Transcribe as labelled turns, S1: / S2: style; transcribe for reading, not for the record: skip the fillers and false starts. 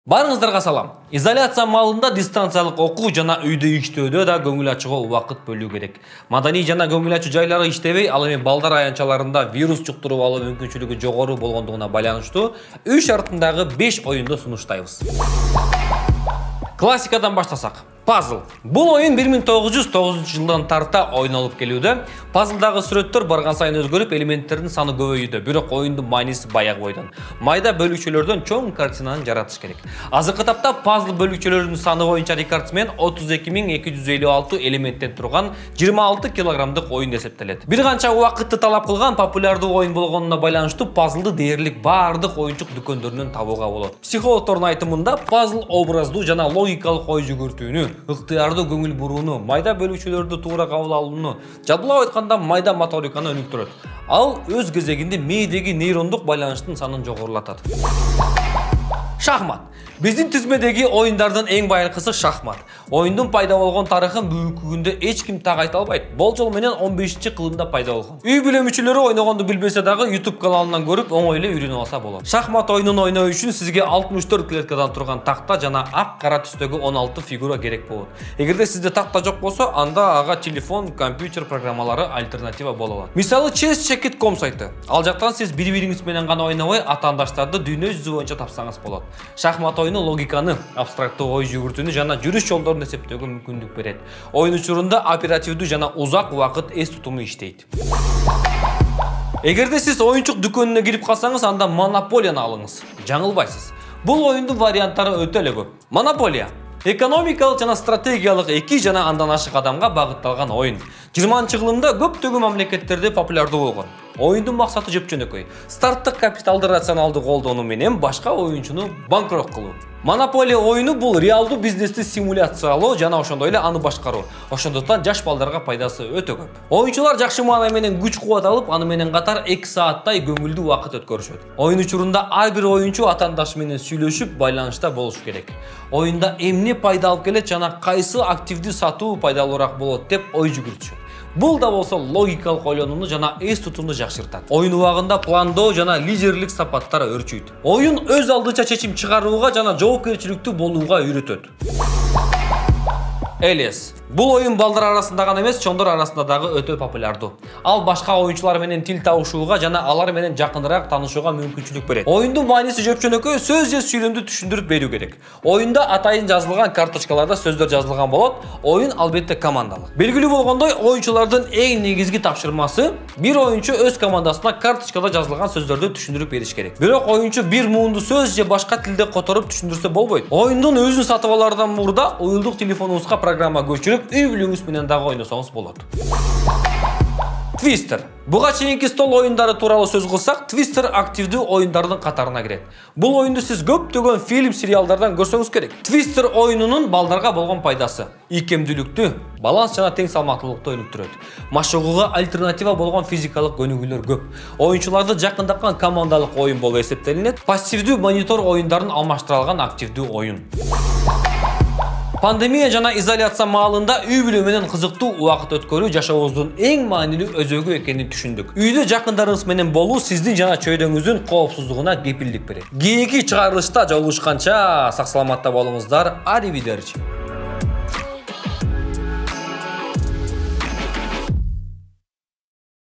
S1: Барыңыздарга салам. Изоляция маалында дистанциялык окуу жана үйдө иштөөдө да көңүл ачууга убакыт бөлүү керек. Маданий жана көңүл ачуу жайлары иштебей, ал эми балдар аянтчаларында вирус жуктуруп алуу мүмкүнчүлүгү жогору болгондугуна байланыштуу үй шартындагы 5 оюнду сунуштайбыз. Классикадан баштасак. Пазл. Бул оюн 1909-жылдан тарта ойнолуп келүүдө. Пазлдагы сүрөттөр барган сайын өзгөрүп, элементтердин саны көбөйүүдө. Бирок оюндун мааниси баягы бойдон. Майда бөлүкчөлөрдөн чоң картинаны жаратыш керек. Азыркы тапта пазл бөлүкчөлөрүнүн саны боюнча рекордсмен 32256 элементтен турган 26 килограммдык оюн эсептелет. Бир канча убакытты талап кылган популярдуу оюн болгонуна байланыштуу пазлды дээрлик баардык оюнчук дүкөндөрүнөн табууга болот. Психологдордун айтымында пазл образдуу жана логикалык ой жүгүртүүнү, ыктыярдуу көңүл бурууну, майда бөлүкчөлөрдү туура кабыл алууну, жадылап айтканда майда моториканы өнүктүрөт. Ал өз кезегинде мээдеги нейрондук байланыштын санын жогорулатат. Шахмат. Биздин тизмедеги оюндардын эң байыркысы шахмат. Оюндун пайда болгон тарыхын бүгүнкү күндө эч ким так айта албайт. Болжол менен 15-кылымда пайда болгон. Үй бүлө мүчөлөрү ойногонду билбесе дагы YouTube каналынан көрүп, оңой эле үйрөнүп алса болот. Шахмат оюнун ойноо үчүн сизге 64 клеткадан турган такта жана ак-кара түстөгү 16 фигура керек болот. Эгерде сизде такта жок болсо, анда ага телефон, компьютер программалары альтернатива боло алат. Мисалы, chess.com сайты. Ал жактан сиз бири-бириңиз менен гана ойнобой, атаандаштарды дүйнө жүзү боюнча тапсаңыз болот. Шахмат оюну логиканы, абстрактуу ой жүгүртүүнү жана жүрүш жолдорун эсептөөгө мүмкүндүк берет. Оюн учурунда оперативдүү жана узак убакыт эс тутуму иштейт. Эгерде сиз оюнчук дүкөнүнө кирип калсаңыз, анда Монополияны алыңыз. Жаңылбайсыз. Бул оюндун варианттары өтө эле көп. Монополия экономикалык жана стратегиялык 2 жана андан ашык адамга багытталган оюн. 20-кылымда көптөгөн мамлекеттерде популярдуу болгон. Оюндун максаты жөп-жөнөкөй. Старттык капиталды рационалдуу колдонуу менен башка оюнчуну банкрот кылуу. Монополия оюну бул реалдуу бизнести симуляциялоо жана ошондой эле аны башкаруу. Ошондуктан жаш балдарга пайдасы өтө көп. Оюнчулар жакшы маана менен күч-кубат алып, аны менен катар 2 сааттай көңүлдүү убакыт өткөрүшөт. Оюн учурунда ар бир оюнчу атаандашы менен сүйлөшүп, байланышта болуш керек. Оюнда эмне пайда алып келет жана кайсы активдүү сатуу пайдалуураак болот деп ой жүгүртүшөт. Бул да болсо логикалык ойлонууну жана эс тутумду жакшыртат. Оюн убагында пландоо жана лидерлик сапаттар өрчүйт. Оюн өз алдынча чечим чыгарууга жана жоопкерчиликтүү болууга үйрөтөт. Элес. Бул оюн балдар арасында гана эмес, чоңдор арасында дагы өтө популярдуу. Ал башка оюнчулар менен тил табышууга жана алар менен жакыныраак таанышууга мүмкүнчүлүк берет. Оюндун мааниси жөп-жөнөкөй, сөз же сүйлөмдү түшүндүрүп берүү керек. Оюнда атайын жазылган карточкаларда сөздөр жазылган болот. Оюн албетте командалык. Белгилүү болгондой, оюнчулардын эң негизги тапшырмасы бир оюнчу өз командасына карточкада жазылган сөздөрдү түшүндүрүп бериш керек. Бирок оюнчу бир муунду сөз же башка тилде которуп түшүндүрсө болбойт. Оюндун өзүн сатып алаардан мурда уюлдук телефонуңузга программа көчүрүп, үй бүлөңүз менен дагы ойносоңуз болот. Твистер. Буга чейинки стол оюндары тууралуу сөз кылсак, Твистер активдүү оюндардын катарына кирет. Бул оюнду сиз көптөгөн фильм, сериалдардан көрсөңүз керек. Твистер оюнунун балдарга болгон пайдасы: ийкемдүүлүктү, баланс жана тең салмактуулукту өнүктүрөт. Машыгууга альтернатива болгон физикалык көнүгүүлөр көп. Оюнчуларды жакындакан командалык оюн болуп эсептелинет. Пассивдүү монитор оюндарын алмаштыра алган активдүү оюн. Пандемия жана изоляция маалында үй бүлө менен кызыктуу убакыт өткөрүү жашообуздун эң маанилүү өзөгү экенин түшүндүк. Үйдө жакындарыңыз менен болуу сиздин жана чөйрөңүздүн коопсуздугуна кепилдик берет. Кийинки чыгарылышта жолугушканча сак саламатта болуңуздар. Аривидерчи.